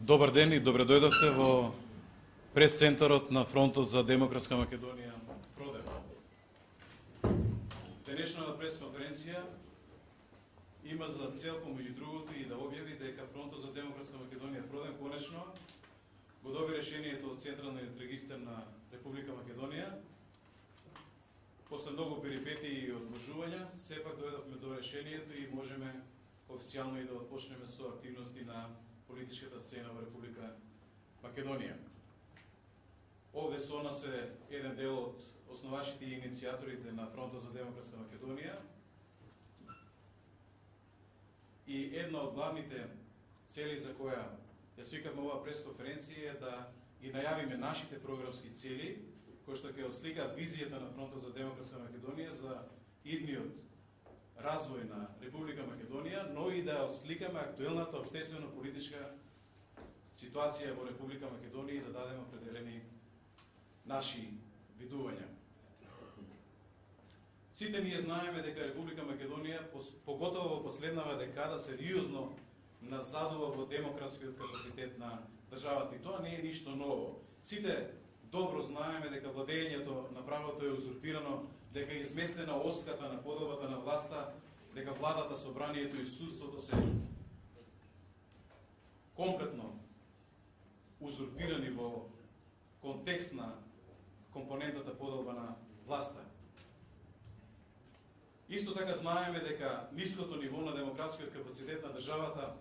Добар ден и добре дојдовте во прес-центарот на Фронтот за Демократска Македонија Продем. Денешната прес-конференција има за цел, помеѓу другото, и да објави дека Фронтот за Демократска Македонија Продем конечно го доби решението од Централниот регистар на Република Македонија. После многу перипетии и одложувања, сепак дојдовме до решението и можеме официјално и да отпочнеме со активности на политичката сцена во Република Македонија. Овде со нас е еден дел од основачите и иницијаторите на Фронтот за Демократска Македонија. И една од главните цели за која ја свикавме ова пресконференција е да ги најавиме нашите програмски цели, кои што ќе осликаат визијата на Фронтот за Демократска Македонија за идниот развој на Република Македонија, но и да осликаме актуелната општествено-политичка ситуација во Република Македонија и да дадеме определени наши видувања. Сите ние знаеме дека Република Македонија, поготово во последнава декада, сериозно назадува во демократскиот капацитет на државата. И тоа не е ништо ново. Сите добро знаеме дека владењето на правото е узурпирано, дека е изместена оската на поделбата на власта, дека владата, собранието и судството се комплетно узурпирани во контекст на компонентата поделба на власта. Исто така знаеме дека ниското ниво на демократскиот капацитет на државата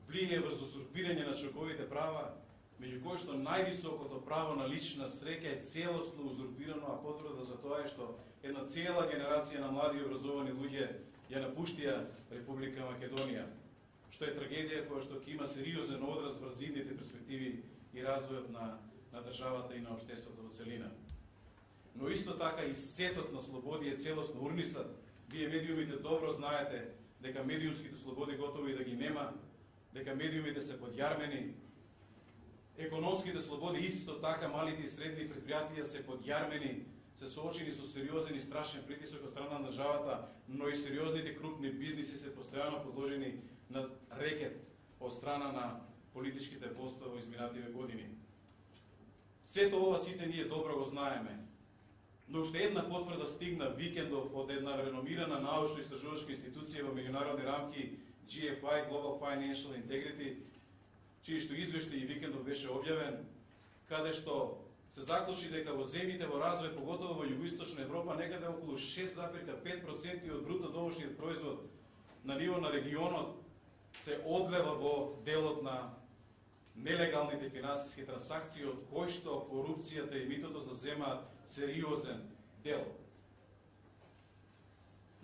влијае врз узурпирање на човековите права, меѓу кои што највисокото право на лична среќа е целосно узурпирано, а потврда за тоа е што една цела генерација на млади и образовани луѓе ја напуштија Република Македонија, што е трагедија која што ќе има сериозен одраз врз идните перспективи и развојот на државата и на општеството во целина. Но исто така и сетот на слободи е целосно урнисат. Вие медиумите добро знаете дека медиумските слободи готово и да ги нема, дека медиумите се подјармени. Економските слободи исто така, малите и средни предпријатија се подјармени, се соочени со сериозен и страшен притисок од страна на државата, но и сериозните крупни бизниси се постојано подложени на рекет од страна на политичките водства во изминативе години. Сето ова сите ние добро го знаеме. Но уште една потврда стигна викендов од една реномирана научно-истражувачка институција во меѓународни рамки GFI, Global Financial Integrity, чиј што извештај и викендов беше објавен, каде што се заклучи дека во земјите во развој, поготово во југоисточна Европа, некаде околу 6,5% од бруто домашниот производ на ниво на регионот се одлева во делот на нелегалните финансиски трансакции, од кои што корупцијата и митото заземаат сериозен дел.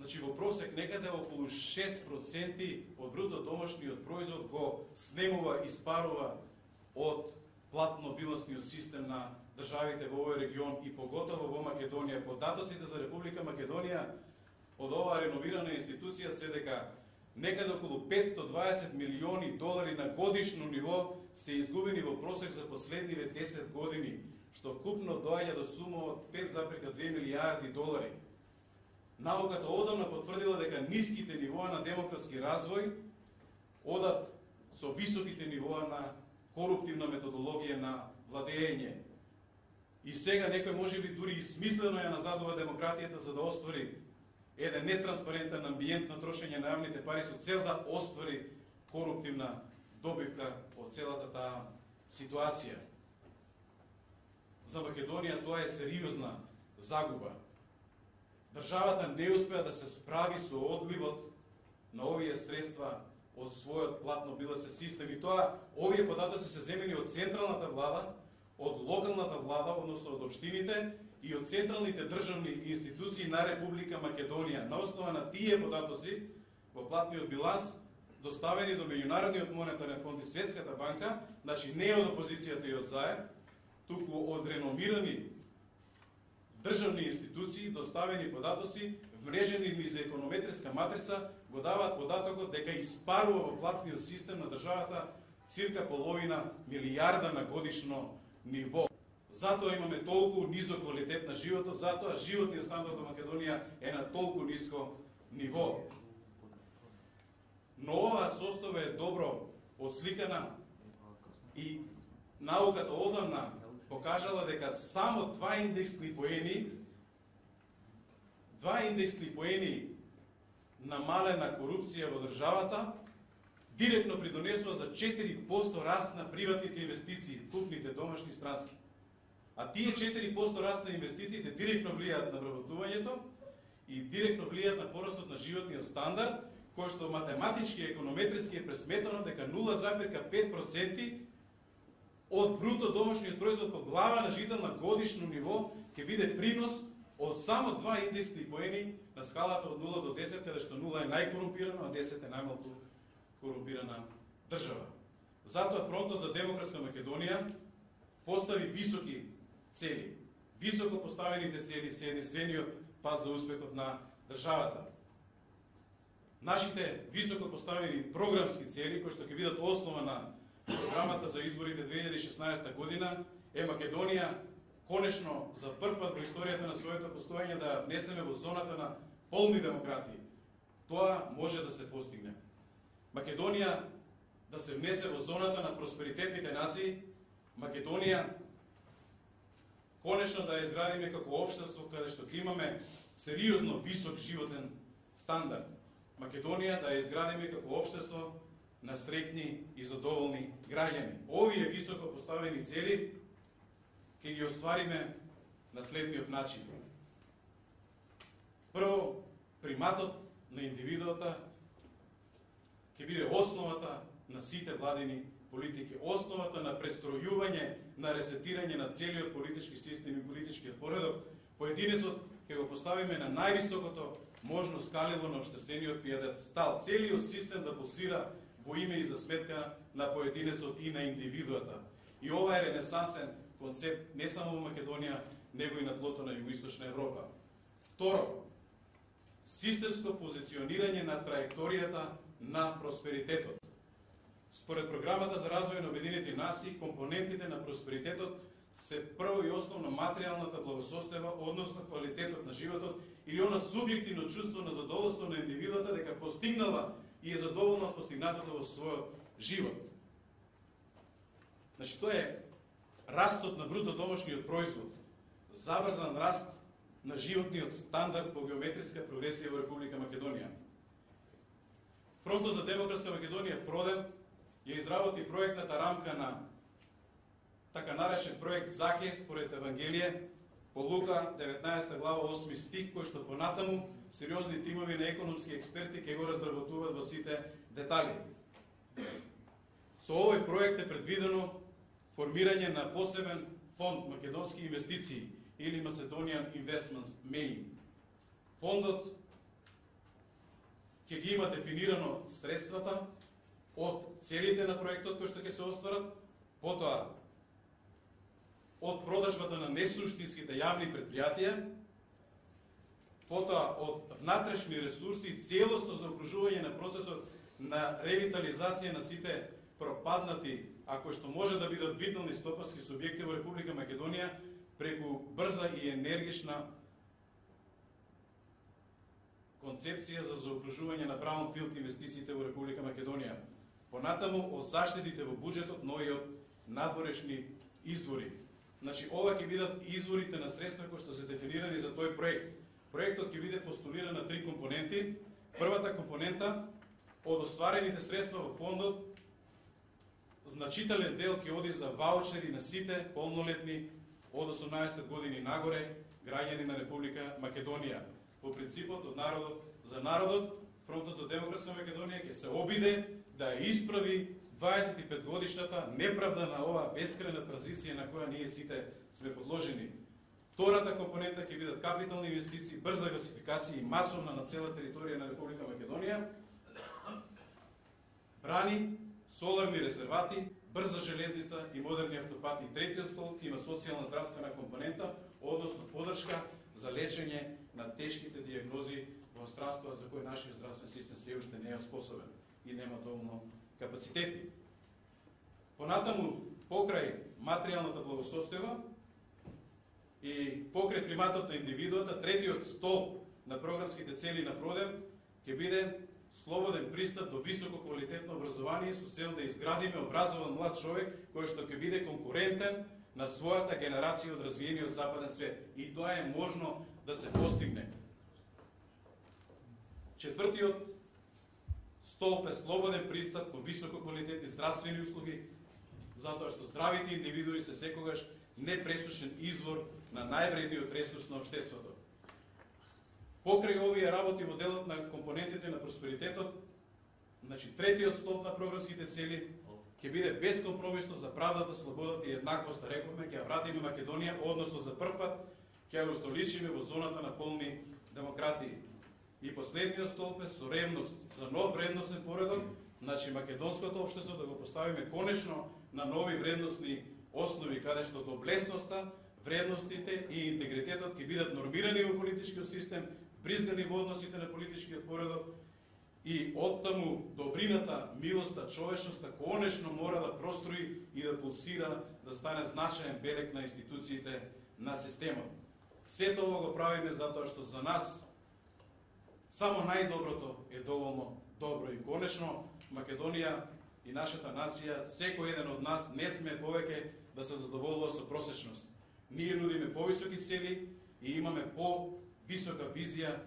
Значи, во просек некаде околу 6% од бруто домашниот производ го снемува и спарува од платно-билансниот систем на државите во овој регион и поготово во Македонија. Податоците за Република Македонија од оваа реновирана институција се дека некаде околу 520 милиони долари на годишно ниво се изгубени во просек за последниве 10 години, што вкупно доаѓа до сума од 5,2 милијарди долари. Науката одамна потврдила дека ниските нивоа на демократски развој одат со високите нивоа на коруптивна методологија на владење. И сега некој можеби дури и смислено ја назадува демократијата за да оствари еден нетранспарентен амбиент на трошење на јавните пари со цел да оствари коруптивна добивка од целата таа ситуација. За Македонија тоа е сериозна загуба. Државата не успеа да се справи со одливот на овие средства од својот платно-билансен систем и тоа овие податоци се земени од централната влада, од локалната влада, односно од општините и од централните државни институции на Република Македонија. На основа на тие податоци во платниот биланс доставени до Меѓународниот монетарен фонд и Светската банка, значи не од опозицијата и од ЗАЕР, туку од реномирани државни институции, доставени податоци, вмрежени низ економетриска матрица, го даваат податокот дека испарува во платниот систем на државата цирка половина милијарда на годишно ниво. Затоа имаме толку низок квалитет на животот, затоа животниот стандард во Македонија е на толку ниско ниво. Но оваа состава е добро отсликана И науката одамна покажала дека само два индексни поени намалена корупција во државата директно придонесува за 4% раст на приватните инвестиции, крупните домашни странски. А тие 4% раст на инвестициите директно влијаат на вработувањето и директно влијаат на порастот на животниот стандард, кој што математички и економетриски е пресметано дека 0,5% од бруто домашниот производ по глава на жител на годишно ниво ќе биде принос од само два индексни поени на скалата од 0 до 10, каде што 0 е најкорумпирано, а 10 е најмалку корумпирана држава. Затоа Фронтот за демократска Македонија постави високи цели. Високо поставените цели се единствениот пат за успехот на државата. Нашите високо поставени програмски цели, кои што ќе бидат основа на програмата за изборите 2016 година, е Македонија конечно за прв пат во историјата на своето постоење да внесеме во зоната на полни демократии. Тоа може да се постигне. Македонија да се внесе во зоната на просперитетните нации, Македонија конечно да ја изградиме како општество каде што ќе имаме сериозно висок животен стандард. Македонија да ја изградиме како општество на среќни и задоволни граѓани. Овие високо поставени цели ќе ги оствариме на следниот начин. Прво, приматот на индивидуата ќе биде основата на сите владини политики, основата на престројување, на ресетирање на целиот политички систем и политичкиот поредок. Поединецот ќе го поставиме на највисокото можно скалило на општествениот пиедестал. Целиот систем да пулсира во име и за сметка на поединецот и на индивидуата. И ова е ренесансен концепт не само во Македонија, него и на тлото на Југоисточна Европа. Второ, системско позиционирање на траекторијата на просперитетот. Според програмата за развој на Обединетите нации, компонентите на просперитетот се прво и основно материјалната благосостојба, односно квалитетот на животот или она субјективно чувство на задоволство на индивидуата дека постигнала и е задоволна од постигнатото во својот живот. Значи, тоа е растот на бруто домашниот производ, забрзан раст на животниот стандард по геометриска прогресија во Република Македонија. Фронтот за демократска Македонија, ФРОДЕМ, ја изработи проектната рамка на така наречен проект Захе според Евангелие по Лука 19 глава 8 стих, кој што понатаму сериозни тимови на економски експерти ќе го разработуваат во сите детали. Со овој проект е предвидено формирање на посебен фонд македонски инвестиции или Macedonian Investments Main. Фондот ќе ги има дефинирано средствата од целите на проектот кои што ќе се остварат, потоа од продажбата на несуштинските јавни предпријатија, потоа од внатрешни ресурси и целосно заокружување на процесот на ревитализација на сите пропаднати, ако што може да бидат витални стопански субјекти во Република Македонија преку брза и енергична концепција за заокружување на браунфилд инвестициите во Република Македонија. Понатаму од заштедите во буџетот, но и од надворешни извори. Значи, ова ќе бидат изворите на средства кои што се дефинирани за тој проект. Проектот ќе биде постулиран на 3 компоненти. Првата компонента, од остварените средства во фондот, значителен дел ќе оди за ваучери на сите полнолетни од 18 години нагоре граѓани на Република Македонија. По принципот од народот за народот, Фронтот за демократска Македонија ќе се обиде да исправи 25-годишната неправда на оваа бескрајна транзиција на која ние сите сме подложени. Втората компонента ќе бидат капитални инвестиции, брза гасификација и масовна на цела територија на Република Македонија, брани, соларни резервати, брза железница и модерни автопати. Третиот столб има социјална здравствена компонента, односно подршка за лечење на тешките диагнози во странство за кој нашиот здравствен систем се уште не е способен и нема доволно капацитети. Понатаму, покрај материјалната благосостојба и покрај приматот на индивидуата, третиот столб на програмските цели на ФРОДЕМ ќе биде слободен пристап до високо квалитетно образование со цел да изградиме образован млад човек кој што ќе биде конкурентен на својата генерација од развиениот западен свет. И тоа е можно да се постигне. Четвртиот столб е слободен пристап кон високо квалитетни здравствени услуги, затоа што здравите индивидуи се секогаш непресушен извор на највредниот ресурс на општеството. Покрај овие работи во делот на компонентите на просперитетот, значи третиот столб на програмските цели ќе биде безкомпромисно за правдата, слободата и еднаквоста, рековме, ќе ја вратиме Македонија, односно за прв пат ќе ја устоличиме во зоната на полни демократии. И последниот столб е со ревност за нов вредносен поредок, значи македонското општество да го поставиме конечно на нови вредносни основи, каде што доблесноста, вредностите и интегритетот ќе бидат нормирани во политичкиот систем, бризгани во односите на политичкиот поредок и оттаму добрината, милоста, човечноста конечно мора да прострои и да пулсира, да стане значаен белег на институциите на системот. Сето ова го правиме затоа што за нас само најдоброто е доволно добро и конечно Македонија и нашата нација, секој еден од нас не сме повеќе да се задоволува со просечност. Ние нудиме повисоки цели и имаме по-висока визија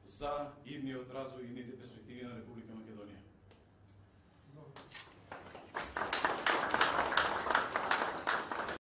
за идниот развој и идните перспективи на Република Македонија.